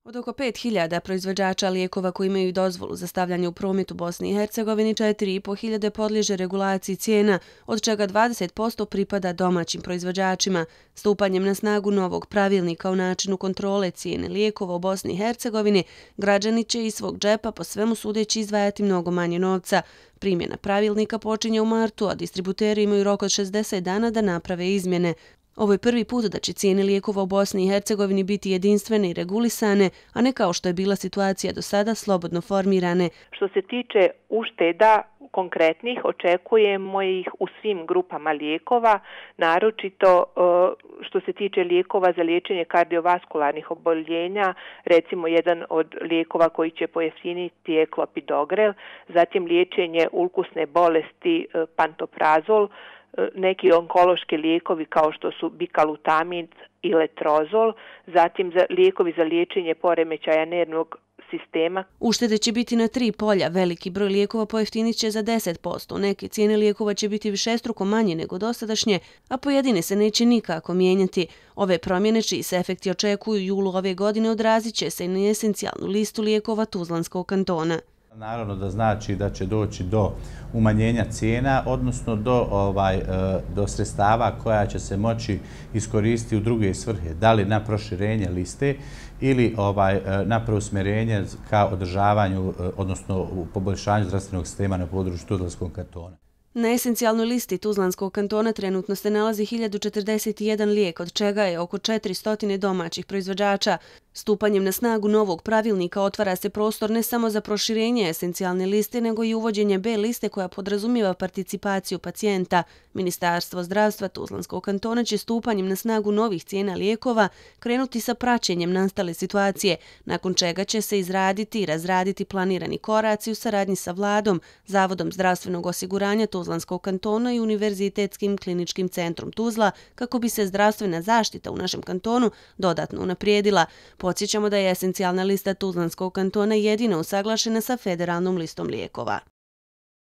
Od oko 5.000 proizvođača lijekova koji imaju dozvolu za stavljanje u promet u Bosni i Hercegovini, 4.500 podliježe regulaciji cijena, od čega 20% pripada domaćim proizvođačima. Stupanjem na snagu novog pravilnika o načinu kontrole cijene lijekova u Bosni i Hercegovini, građani će iz svog džepa po svemu sudeći izdvajati mnogo manje novca. Primjena pravilnika počinje u martu, a distributeri imaju rok od 60 dana da naprave izmjene. Ovo je prvi put da će cijene lijekova u Bosni i Hercegovini biti jedinstvene i regulisane, a ne kao što je bila situacija do sada slobodno formirane. Što se tiče ušteda konkretnih, očekujemo ih u svim grupama lijekova, naročito što se tiče lijekova za liječenje kardiovaskularnih oboljenja, recimo jedan od lijekova koji će pojeftiniti je klopidogrel, zatim liječenje ulkusne bolesti pantoprazol, neki onkološki lijekovi kao što su bikalutamid i letrozol, zatim lijekovi za liječenje poremećaja nervnog sistema. Uštede će biti na 3 polja, veliki broj lijekova pojeftinit će za 10%, neke cijene lijekova će biti višestruko manje nego dosadašnje, a pojedine se neće nikako mijenjati. Ove promjene čiji se efekti očekuju u julu ove godine odrazit će se i na esencijalnu listu lijekova Tuzlanskog kantona. Naravno da znači da će doći do umanjenja cijena, odnosno do sredstava koja će se moći iskoristiti u druge svrhe, da li na proširenje liste ili na preusmjerenje ka održavanju, odnosno u poboljšanju zdravstvenog sistema na području Tuzlanskog kantona. Na esencijalnoj listi Tuzlanskog kantona trenutno se nalazi 1041 lijek, od čega je oko 400 domaćih proizvođača. Stupanjem na snagu novog pravilnika otvara se prostor ne samo za proširenje esencijalne liste, nego i uvođenje B liste koja podrazumijeva participaciju pacijenta. Ministarstvo zdravstva Tuzlanskog kantona će stupanjem na snagu novih cijena lijekova krenuti sa praćenjem nastale situacije, nakon čega će se izraditi i razraditi planirani koraci u saradnji sa vladom, Zavodom zdravstvenog osiguranja Tuzlanskog kantona i Univerzitetskim kliničkim centrom Tuzla kako bi se zdravstvena zaštita u našem kantonu dodatno unaprijedila. Podsjećamo da je esencijalna lista Tuzlanskog kantona jedina usaglašena sa federalnom listom lijekova.